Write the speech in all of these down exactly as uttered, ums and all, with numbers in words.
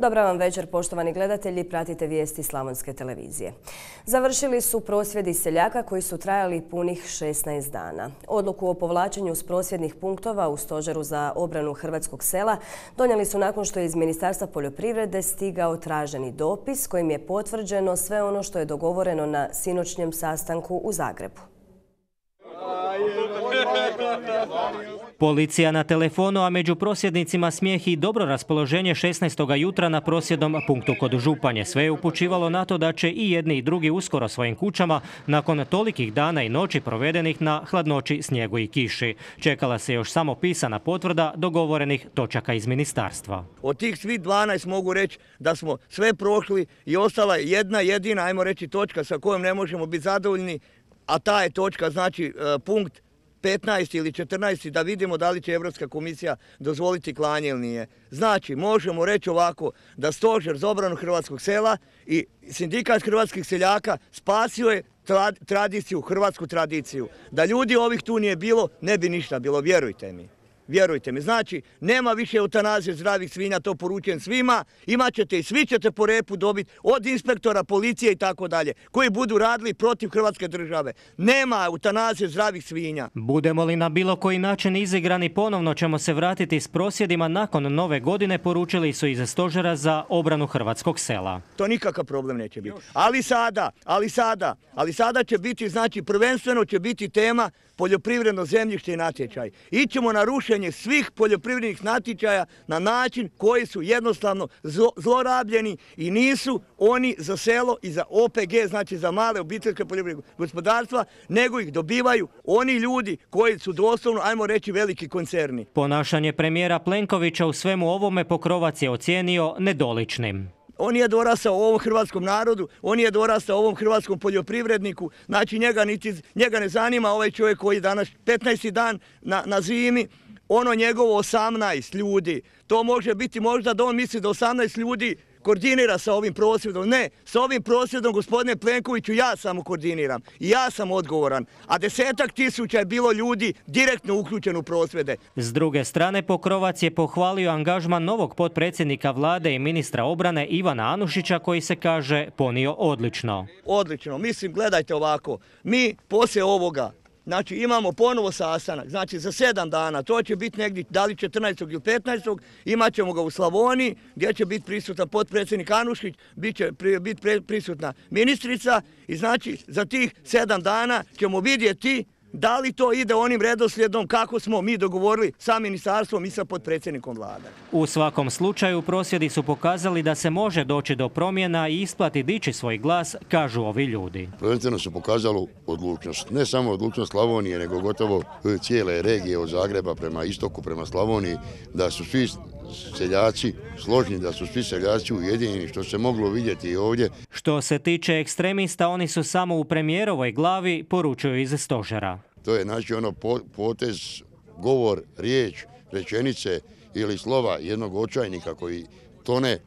Dobar vam večer, poštovani gledatelji, pratite vijesti Slavonske televizije. Završili su prosvjedi seljaka koji su trajali punih šesnaest dana. Odluku o povlačenju s prosvjednih punktova u Stožeru za obranu hrvatskog sela donijeli su nakon što je iz Ministarstva poljoprivrede stigao traženi dopis kojim je potvrđeno sve ono što je dogovoreno na sinoćnjem sastanku u Zagrebu. Policija na telefonu, a među prosvjednicima smijeh i dobro raspoloženje šesnaestoga jutra na prosvjednom punktu kod Županje. Sve je upućivalo na to da će i jedni i drugi uskoro svojim kućama nakon tolikih dana i noći provedenih na hladnoći, snijegu i kiši. Čekala se još samo pisana potvrda dogovorenih točaka iz ministarstva. Od tih svih dvanaest mogu reći da smo sve prošli i ostala je jedna jedina, ajmo reći, točka sa kojom ne možemo biti zadovoljni, a ta je točka, znači punkt petnaest ili četrnaest, da vidimo da li će Europska komisija dozvoliti klanje ili nije. Znači, možemo reći ovako, da Stožer za obranu hrvatskog sela i Sindikat hrvatskih seljaka spasio je tradiciju, hrvatsku tradiciju. Da ljudi ovih tu nije bilo, ne bi ništa bilo, vjerujte mi. Vjerujte mi, znači, nema više eutanazije zdravih svinja, to poručujem svima, imat ćete i svi ćete po repu dobiti od inspektora, policije i tako dalje, koji budu radili protiv Hrvatske države. Nema eutanazije zdravih svinja. Budemo li na bilo koji način izigrani, ponovno ćemo se vratiti s prosvjedima nakon nove godine, poručili su iz Stožera za obranu hrvatskog sela. To nikakav problem neće biti. Ali sada, ali sada, ali sada će biti, znači, prvenstveno će biti tema poljoprivredno zemljište i natječaj. Ićemo na rušenje svih poljoprivrednih natječaja na način koji su jednostavno zlorabljeni i nisu oni za selo i za O P G, znači za male obiteljske poljoprivredne gospodarstva, nego ih dobivaju oni ljudi koji su doslovno, ajmo reći, veliki koncerni. Ponašanje premijera Plenkovića u svemu ovome Pokrovac je ocijenio nedoličnim. On je dorastao ovom hrvatskom narodu, on je dorastao ovom hrvatskom poljoprivredniku, znači njega, niti, njega ne zanima ovaj čovjek koji danas petnaesti dan na, na zimi, ono njegovo osamnaest ljudi. To može biti možda da on misli da osamnaest ljudi koordinira sa ovim prosvjedom. Ne, sa ovim prosvjedom, gospodine Plenkoviću, ja samo koordiniram i ja sam odgovoran. A desetak tisuća je bilo ljudi direktno uključeno u prosvjede. S druge strane, Pokrovac je pohvalio angažman novog potpredsjednika vlade i ministra obrane Ivana Anušića, koji se, kaže, ponio odlično. Odlično. Mislim, gledajte ovako. Mi poslije ovoga, znači, imamo ponovo sastanak, znači za sedam dana, to će biti negdje, da li četrnaestog ili petnaestog, imat ćemo ga u Slavoniji, gdje će biti prisutan potpredsjednik Anušić, bit će biti prisutna ministrica i znači za tih sedam dana ćemo vidjeti da li to ide onim redoslijedom kako smo mi dogovorili sa ministarstvom i sa potpredsjednikom vlade. U svakom slučaju prosvjedi su pokazali da se može doći do promjena i isplati dići svoj glas, kažu ovi ljudi. Prvenstveno se pokazalo odlučnost. Ne samo odlučnost Slavonije, nego gotovo cijele regije od Zagreba prema istoku, prema Slavoniji, da su svi seljaci složni, da su svi seljaci ujedinjeni, što se moglo vidjeti i ovdje. Što se tiče ekstremista, oni su samo u premijerovoj glavi, poručuju iz Stožera. To je znači ono potez, govor, riječ, rečenice ili slova jednog očajnika koji tone,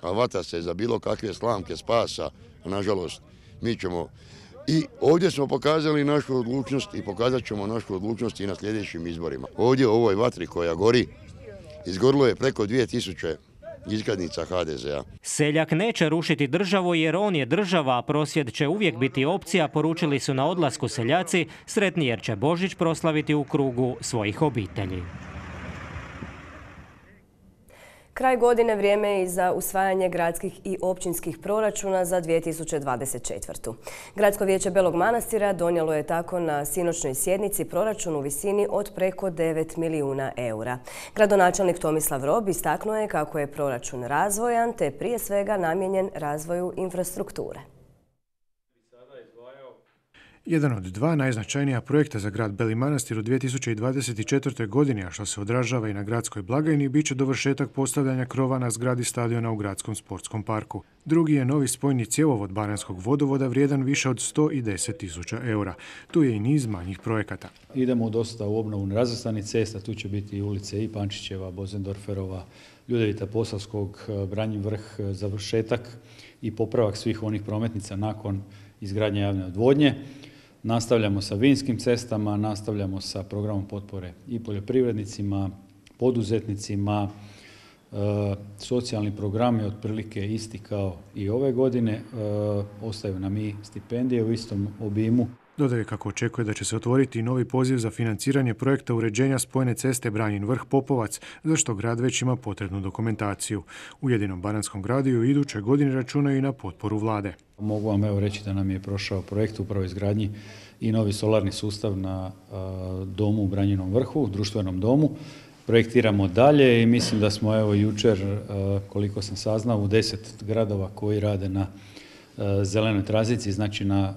a vata se za bilo kakve slamke spasa. Nažalost, mi ćemo i ovdje smo pokazali našu odlučnost i pokazat ćemo našu odlučnost i na sljedećim izborima. Ovdje u ovoj vatri koja gori, izgorilo je preko dvije tisuće iskaznica H D Z A. Seljak neće rušiti državu jer on je država, a prosvjed će uvijek biti opcija, poručili su na odlasku seljaci, sretni jer će Božić proslaviti u krugu svojih obitelji. Kraj godine vrijeme je i za usvajanje gradskih i općinskih proračuna za dvije tisuće dvadeset četvrtu. Gradsko vijeće Belog Manastira donijelo je tako na sinoćnoj sjednici proračun u visini od preko devet milijuna eura. Gradonačelnik Tomislav Rob istaknuo je kako je proračun razvojan te prije svega namijenjen razvoju infrastrukture. Jedan od dva najznačajnija projekta za grad Beli Manastir u dvije tisuće dvadeset četvrtoj. godini, a što se odražava i na gradskoj blagajni, bit će dovršetak postavljanja krova na zgradi stadiona u gradskom sportskom parku. Drugi je novi spojni cjevovod Baranjskog vodovoda vrijedan više od sto deset tisuća eura. Tu je i niz manjih projekata. Idemo dosta u obnovu nerazvrstanih cesta, tu će biti i ulice i Pančićeva, Bozendorferova, Ljudevita Posavskog, Branjin vrh, završetak i popravak svih onih prometnica nakon izgradnje javne odvodnje. Nastavljamo sa vinskim cestama, nastavljamo sa programom potpore i poljoprivrednicima, poduzetnicima, Socijalni program je otprilike isti kao i ove godine. Ostaju nam i stipendije u istom obimu. Dodaje kako očekuje da će se otvoriti i novi poziv za financiranje projekta uređenja spojne ceste Branjin Vrh-Popovac, za što grad već ima potrebnu dokumentaciju. U jedinom bananskom gradu u idućoj godini računaju i na potporu vlade. Mogu vam evo reći da nam je prošao projekt upravo izgradnji i novi solarni sustav na a, domu u Branjinom Vrhu, društvenom domu. Projektiramo dalje i mislim da smo evo jučer, a, koliko sam saznao, u deset gradova koji rade na zelenoj tranziciji, znači na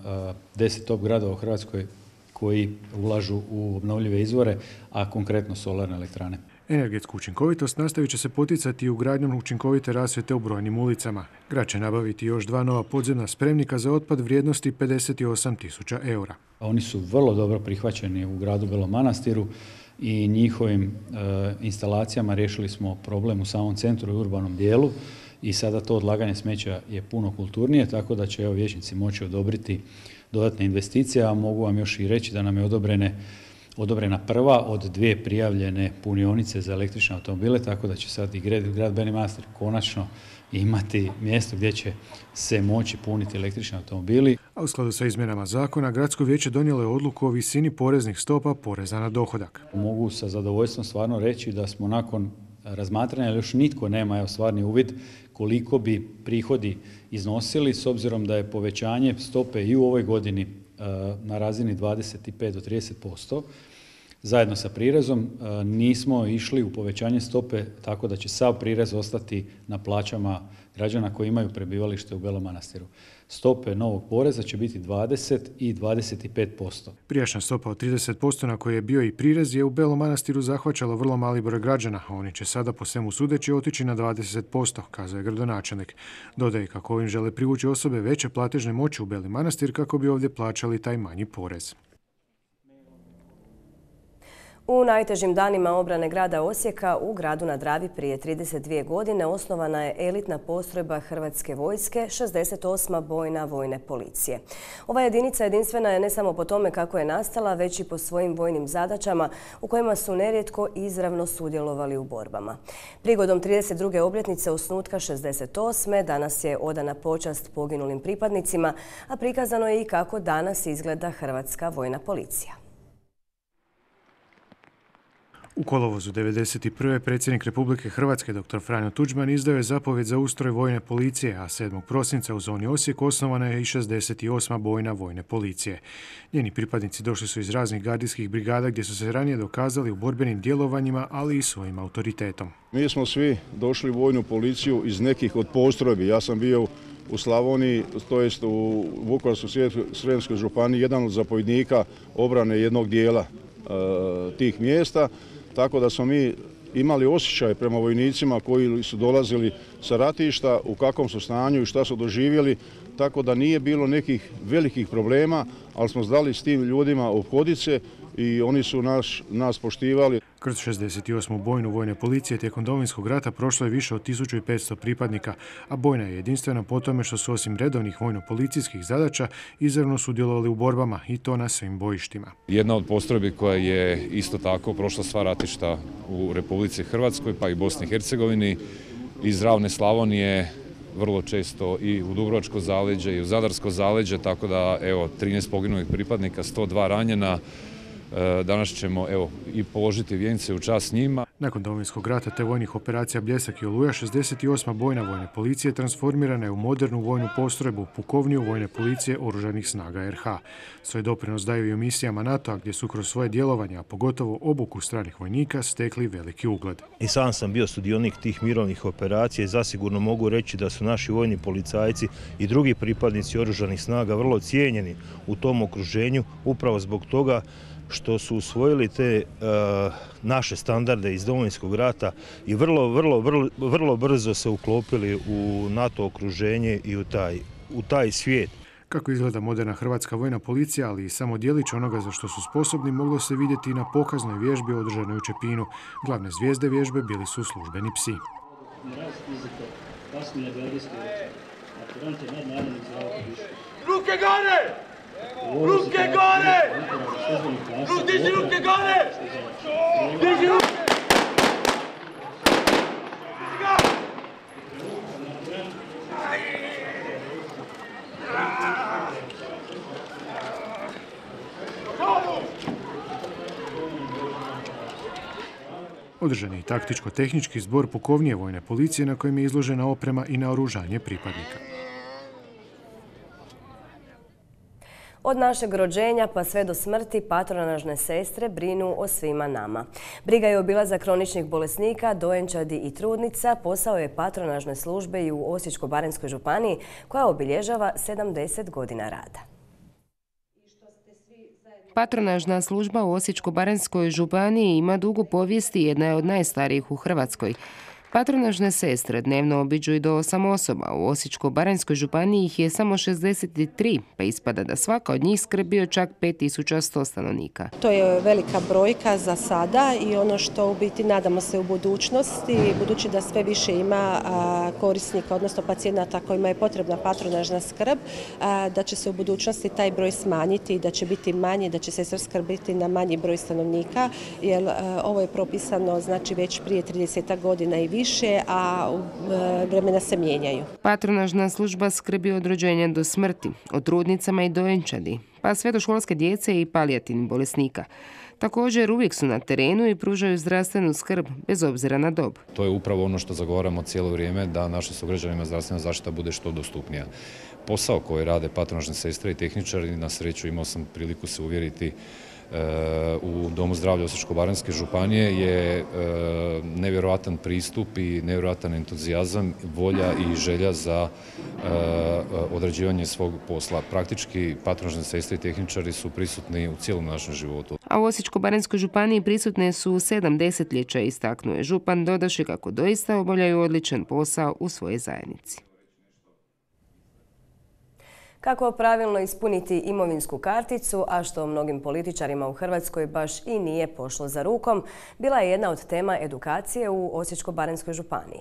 deset top gradova u Hrvatskoj koji ulažu u obnovljive izvore, a konkretno solarne elektrane. Energetsku učinkovitost nastavit će se poticati i ugradnjom učinkovite rasvjete u brojnim ulicama. Grad će nabaviti još dva nova podzemna spremnika za otpad vrijednosti pedeset osam tisuća eura. Oni su vrlo dobro prihvaćeni u gradu Belom Manastiru i njihovim e, instalacijama riješili smo problem u samom centru i urbanom dijelu. I sada to odlaganje smeća je puno kulturnije, tako da će evo vijećnici moći odobriti dodatne investicije, a mogu vam još i reći da nam je odobrene, odobrena prva od dvije prijavljene punionice za električne automobile, tako da će sad i grad, grad Beli Manastir konačno imati mjesto gdje će se moći puniti električni automobili. A u skladu sa izmjenama zakona, Gradsko vijeće donijelo je odluku o visini poreznih stopa poreza na dohodak. Mogu sa zadovoljstvom stvarno reći da smo nakon razmatranja, ali još nitko nema evo, stvarni uvid koliko bi prihodi iznosili, s obzirom da je povećanje stope i u ovoj godini uh, na razini dvadeset pet do trideset posto. Zajedno sa prirezom uh, nismo išli u povećanje stope tako da će sav prirez ostati na plaćama građana koji imaju prebivalište u Belom Manastiru. Stope novog poreza će biti dvadeset i dvadeset pet posto. Prijašnja stopa od trideset posto na kojoj je bio i prirez je u Belom Manastiru zahvaćala vrlo mali broj građana, a oni će sada po svemu sudeći otići na dvadeset posto, kazao je gradonačelnik. Dodaje kako ovim žele privući osobe veće platežne moći u Beli Manastir kako bi ovdje plaćali taj manji porez. U najtežim danima obrane grada Osijeka u gradu na Dravi prije trideset dvije godine osnovana je elitna postrojba Hrvatske vojske, šezdeset osma bojna vojne policije. Ova jedinica jedinstvena je ne samo po tome kako je nastala, već i po svojim vojnim zadaćama u kojima su nerijetko izravno sudjelovali u borbama. Prigodom trideset druge obljetnice osnutka šezdeset osme danas je odana počast poginulim pripadnicima, a prikazano je i kako danas izgleda Hrvatska vojna policija. U kolovozu devedeset prve predsjednik Republike Hrvatske dr. Franjo Tuđman izdao je zapovjed za ustroj vojne policije, a sedmog prosinca u zoni Osijek osnovana je i šezdeset osma bojna vojne policije. Njeni pripadnici došli su iz raznih gardijskih brigada gdje su se ranije dokazali u borbenim djelovanjima, ali i svojim autoritetom. Mi smo svi došli u vojnu policiju iz nekih od postrojbi. Ja sam bio u Slavoniji, to jest u Vukovarsko-srijemskoj županiji, jedan od zapovjednika obrane jednog dijela e, tih mjesta. Tako da smo mi imali osjećaj prema vojnicima koji su dolazili sa ratišta, u kakvom su stanju i šta su doživjeli, tako da nije bilo nekih velikih problema, ali smo znali s tim ljudima ophoditi se i oni su naš, nas poštivali. Kroz šezdeset osmu bojnu vojne policije tijekom Domovinskog rata prošlo je više od tisuću petsto pripadnika, a bojna je jedinstvena po tome što su osim redovnih vojno-policijskih zadaća izravno sudjelovali u borbama i to na svim bojištima. Jedna od postrojbi koja je isto tako prošla sva ratišta u Republici Hrvatskoj pa i Bosni i Hercegovini, iz ravne Slavonije, vrlo često i u Dubrovačko zaleđe i u Zadarsko zaleđe, tako da evo trinaest poginulih pripadnika, sto dva ranjena. Danas ćemo evo, i položiti vijence u čast njima. Nakon Domovinskog rata te vojnih operacija Bljesak i Oluja, šezdeset osma bojna vojne policije transformirana je u modernu vojnu postrojbu, pukovniju vojne policije Oružanih snaga er ha. Svoj doprinos daju i u misijama NATO-a gdje su kroz svoje djelovanje, a pogotovo obuku stranih vojnika, stekli veliki ugled. I sam sam bio sudionik tih mirovnih operacija i zasigurno mogu reći da su naši vojni policajci i drugi pripadnici Oružanih snaga vrlo cijenjeni u tom okruženju, upravo zbog toga što su usvojili te uh, naše standarde iz Domovinskog rata i vrlo, vrlo, vrlo, vrlo brzo se uklopili u NATO okruženje i u taj, u taj svijet. Kako izgleda moderna hrvatska vojna policija, ali i samo djelić onoga za što su sposobni, moglo se vidjeti i na pokaznoj vježbi održanoj u Čepinu. Glavne zvijezde vježbe bili su službeni psi. Ruke gore! Ruke gore! Diži ruke gore! Diži ruke! Održan je i taktičko-tehnički zbor pukovnije vojne policije na kojem je izložena oprema i naoružanje pripadnika. Od našeg rođenja pa sve do smrti patronažne sestre brinu o svima nama. Briga je obilazak kroničnih bolesnika, dojenčadi i trudnica posao je patronažne službe i u Osječko-baranjskoj županiji koja obilježava sedamdeset godina rada. Patronažna služba u Osječko-baranjskoj županiji ima dugu povijest i jedna je od najstarijih u Hrvatskoj. Patronažne sestre dnevno obiđu i do osam osoba. U Osječko-baranjskoj županiji ih je samo šezdeset tri, pa ispada da svaka od njih skrbi o čak pet tisuća sto stanovnika. To je velika brojka za sada i ono što u biti nadamo se u budućnosti, budući da sve više ima korisnika, odnosno pacijenata kojima je potrebna patronažna skrb, da će se u budućnosti taj broj smanjiti i da će biti manji, da će se skrbiti na manji broj stanovnika, jer ovo je propisano znači već prije trideset godina i više. više, a vremena se mijenjaju. Patronažna služba skrbi od rođenja do smrti, o trudnicama i dojenčadi, pa sve do školske djece i palijativnih bolesnika. Također uvijek su na terenu i pružaju zdravstvenu skrb bez obzira na dob. To je upravo ono što zagovaramo cijelo vrijeme, da našim sugrađanima zdravstvena zaštita bude što dostupnija. Posao koji rade patronažne sestre i tehničari, na sreću imao sam priliku se uvjeriti u Domu zdravlja Osječko-baranjske županije, je nevjerojatan pristup i nevjerojatan entuzijazam, volja i želja za odrađivanje svog posla. Praktički patronažne sestre i tehničari su prisutni u cijelom našem životu. A u Osječko-baranjskoj županiji prisutne su sedam desetljeća, istaknuo je župan, dodaši kako doista obavljaju odličan posao u svojoj zajednici. Kako pravilno ispuniti imovinsku karticu, a što mnogim političarima u Hrvatskoj baš i nije pošlo za rukom, bila je jedna od tema edukacije u Osječko-baranjskoj županiji.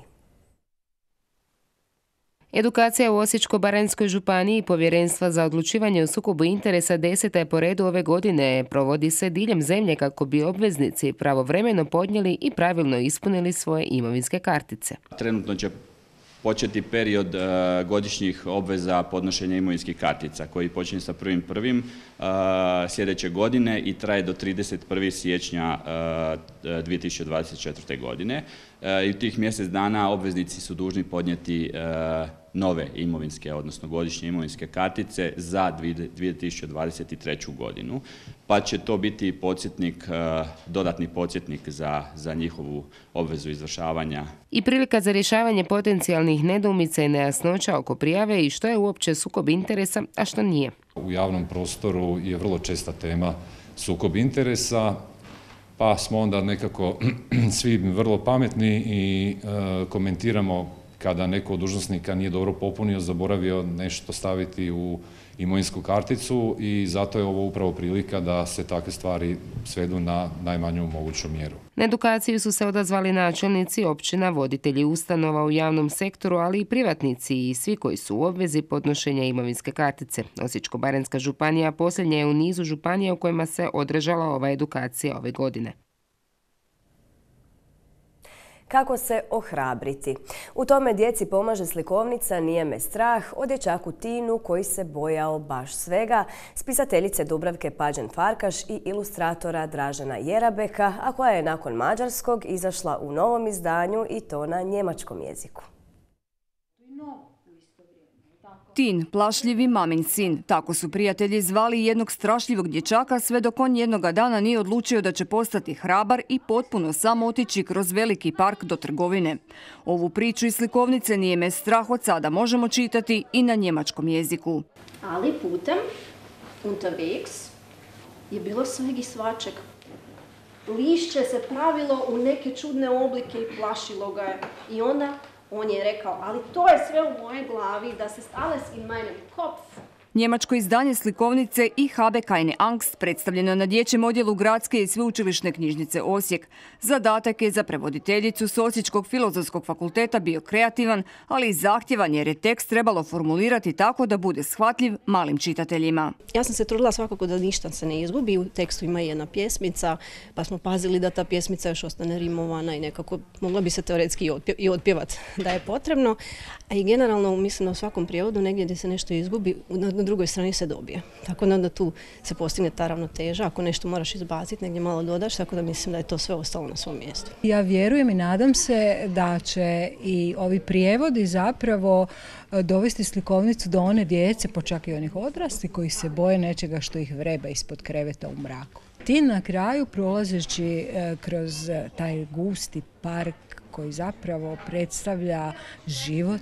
Edukacija u Osječko-baranjskoj županiji Povjerenstva za odlučivanje o sukobu interesa deseta je po redu ove godine. Provodi se diljem zemlje kako bi obveznici pravovremeno podnijeli i pravilno ispunili svoje imovinske kartice. Trenutno će početi period godišnjih obveza podnošenja imovinskih kartica koji počinje sa prvim prvim sljedeće godine i traje do trideset prvog siječnja dvije tisuće dvadeset četvrte. godine. I u tih mjesec dana obveznici su dužni podnijeti nove imovinske, odnosno godišnje imovinske kartice za dvije tisuće dvadeset treću. godinu, pa će to biti podsjetnik, dodatni podsjetnik za, za njihovu obvezu izvršavanja. I prilika za rješavanje potencijalnih nedoumica i nejasnoća oko prijave i što je uopće sukob interesa, a što nije. U javnom prostoru je vrlo česta tema sukob interesa, pa smo onda nekako svi vrlo pametni i e, komentiramo kada neko od dužnosnika nije dobro popunio, zaboravio nešto staviti u imovinsku karticu i zato je ovo upravo prilika da se takve stvari svedu na najmanju moguću mjeru. Na edukaciju su se odazvali načelnici općina, voditelji ustanova u javnom sektoru, ali i privatnici i svi koji su u obvezi podnošenja imovinske kartice. Osječko-baranjska županija posljednja je u nizu županija u kojima se održala ova edukacija ove godine. Kako se ohrabriti? U tome djeci pomaže slikovnica Nije me strah o dječaku Tinu koji se bojao baš svega, spisateljice Dubravke Pađen-Farkaš i ilustratora Dražena Jerabeka, a koja je nakon mađarskog izašla u novom izdanju i to na njemačkom jeziku. Tin, plašljivi mamin sin. Tako su prijatelji zvali jednog strašljivog dječaka sve dok on jednoga dana nije odlučio da će postati hrabar i potpuno sam otići kroz veliki park do trgovine. Ovu priču iz slikovnice Nije me strah od sada možemo čitati i na njemačkom jeziku. Ali putem, unterwegs, je bilo sveg i svačeg. Lišće se pravilo u neke čudne oblike i plašilo ga je. I onda on je rekao, ali to je sve u mojoj glavi, da se alles in meinem Kopf. Njemačko izdanje slikovnice Ich habe keine Angst predstavljeno na dječjem odjelu Gradske i sveučilišne knjižnice Osijek. Zadatak je za prevoditeljicu s Osječkog filozofskog fakulteta bio kreativan, ali i zahtjevan jer je tekst trebalo formulirati tako da bude shvatljiv malim čitateljima. Ja sam se trudila svakako da ništa se ne izgubi. U tekstu ima jedna pjesmica, pa smo pazili da ta pjesmica još ostane rimovana i nekako mogla bi se teoretski i odpjevati da je potrebno. A i generalno mislim u svakom prijevodu negdje gdje se nešto izgubi, drugoj strani se dobije. Tako da onda tu se postigne ta ravnoteža. Ako nešto moraš izbaciti, negdje malo dodaš, tako da mislim da je to sve ostalo na svom mjestu. Ja vjerujem i nadam se da će i ovi prijevodi zapravo dovesti slikovnicu do one djece, pa čak i onih odrasli koji se boje nečega što ih vreba ispod kreveta u mraku. Ti na kraju, prolazeći kroz taj gusti park koji zapravo predstavlja život,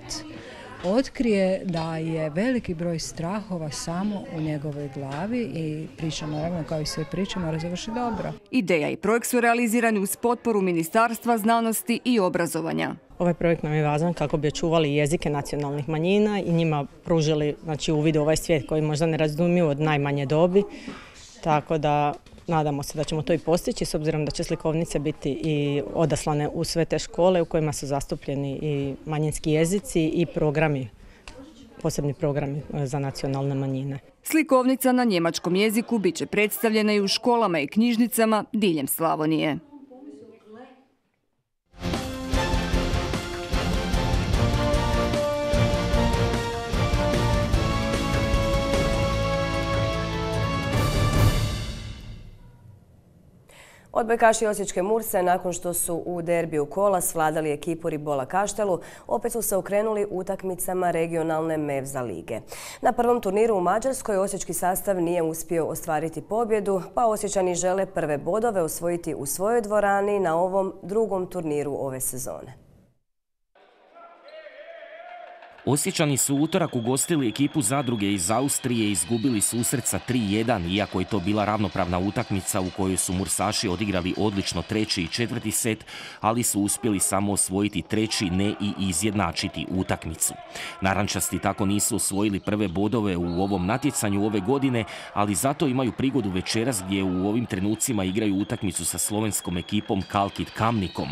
otkrije da je veliki broj strahova samo u njegovoj glavi i priča, naravno, kao i sve priče, mora završiti dobro. Ideja i projekt su realizirani uz potporu Ministarstva znanosti i obrazovanja. Ovaj projekt nam je važan kako bi očuvali jezike nacionalnih manjina i njima pružili, znači, uvid u ovaj svijet koji možda ne razumiju od najmanje dobi. Tako da nadamo se da ćemo to i postići, s obzirom da će slikovnice biti i odaslane u sve te škole u kojima su zastupljeni i manjinski jezici i programi, posebni programi za nacionalne manjine. Slikovnica na njemačkom jeziku bit će predstavljena i u školama i knjižnicama diljem Slavonije. Odbojkaši osječke Murse, nakon što su u derbiju kola svladali ekipu Ribola Kaštelu, opet su se okrenuli utakmicama regionalne Mevza lige. Na prvom turniru u Mađarskoj osječki sastav nije uspio ostvariti pobjedu, pa Osječani žele prve bodove osvojiti u svojoj dvorani na ovom drugom turniru ove sezone. Osječani su utorak ugostili ekipu Zadruge iz Austrije i izgubili susret sa tri jedan, iako je to bila ravnopravna utakmica u kojoj su Mursaši odigrali odlično treći i četvrti set, ali su uspjeli samo osvojiti treći, ne i izjednačiti utakmicu. Narančasti tako nisu osvojili prve bodove u ovom natjecanju ove godine, ali zato imaju prigodu večeras gdje u ovim trenucima igraju utakmicu sa slovenskom ekipom Kalkit Kamnikom.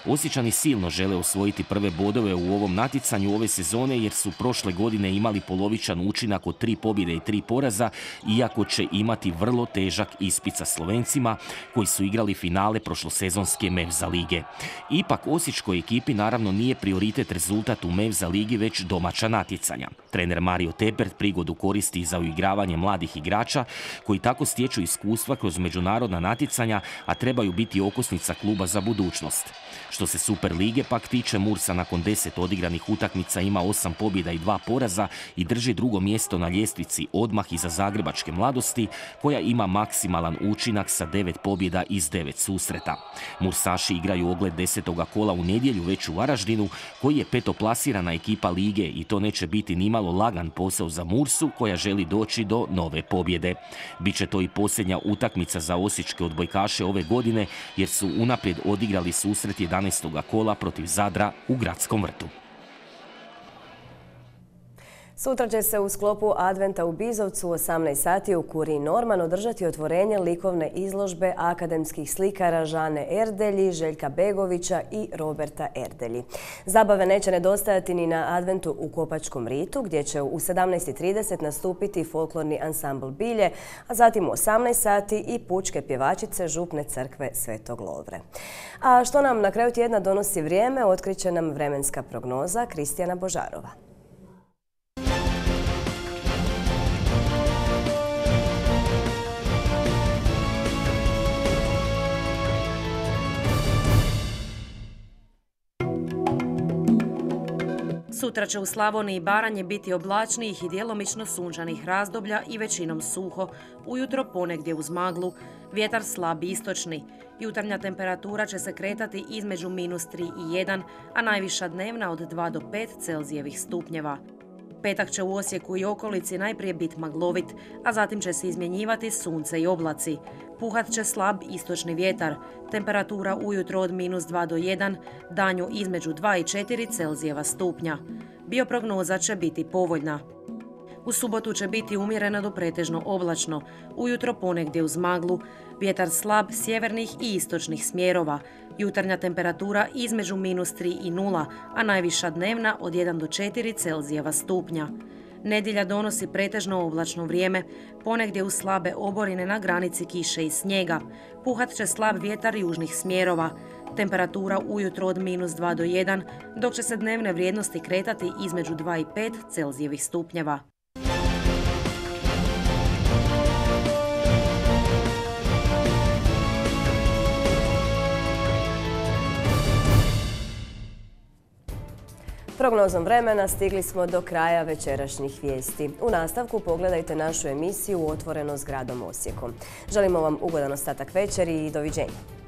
Osječani silno žele osvojiti prve bodove u ovom natjecanju ove sezone jer su prošle godine imali polovičan učinak od tri pobjede i tri poraza, iako će imati vrlo težak ispit sa Slovencima koji su igrali finale prošlosezonske Mevza lige. Ipak osječkoj ekipi naravno nije prioritet rezultat u Mevza ligi, već domaća natjecanja. Trener Mario Tepert prigodu koristi za uigravanje mladih igrača koji tako stječu iskustva kroz međunarodna natjecanja, a trebaju biti okosnica kluba za budućnost. Što se Super lige pak tiče, Mursa nakon deset odigranih utakmica ima osam pobjeda i dva poraza i drži drugo mjesto na ljestvici odmah iza Zagrebačke Mladosti, koja ima maksimalan učinak sa devet pobjeda iz devet susreta. Mursaši igraju ogled desetoga kola u nedjelju već u Varaždinu, koji je petoplasirana ekipa lige i to neće biti nimalo lagan posao za Mursu, koja želi doći do nove pobjede. Biće to i posljednja utakmica za osječke odbojkaše ove godine, jer su unaprijed odigrali susret jedanaestoga kola protiv Zadra u Gradskom vrtu. Sutra će se u sklopu Adventa u Bizovcu u osamnaest sati u Kuriji Norman održati otvorenje likovne izložbe akademskih slikara Žane Erdelji, Željka Begovića i Roberta Erdelji. Zabave neće nedostajati ni na Adventu u Kopačkom ritu, gdje će u sedamnaest i trideset nastupiti folklorni ansambl Bilje, a zatim u osamnaest sati i pučke pjevačice Župne crkve Svetog Lovre. A što nam na kraju tjedna donosi vrijeme, otkriće nam vremenska prognoza Kristijana Božarova. Sutra će u Slavoniji i Baranji biti oblačnijih i djelomično sunčanih razdoblja i većinom suho. Ujutro ponegdje uz maglu, vjetar slab istočni. Jutarnja temperatura će se kretati između minus tri i jedan, a najviša dnevna od dva do pet Celzijevih stupnjeva. Petak će u Osijeku i okolici najprije biti maglovit, a zatim će se izmjenjivati sunce i oblaci. Puhat će slab istočni vjetar, temperatura ujutro od minus dva do jedan, danju između dva i četiri Celzijeva stupnja. Bioprognoza će biti povoljna. U subotu će biti umjereno do pretežno oblačno, ujutro ponegdje uz maglu, vjetar slab sjevernih i istočnih smjerova, jutarnja temperatura između minus tri i nula, a najviša dnevna od jedan do četiri Celzijeva stupnja. Nedjelja donosi pretežno oblačno vrijeme, ponegdje uz slabe oborine na granici kiše i snijega. Puhat će slab vjetar južnih smjerova. Temperatura ujutro od minus dva do jedan, dok će se dnevne vrijednosti kretati između dva i pet Celzijevih stupnjeva. Prognozom vremena stigli smo do kraja večerašnjih vijesti. U nastavku pogledajte našu emisiju Otvoreno s gradom Osijekom. Želimo vam ugodan ostatak večeri i doviđenja.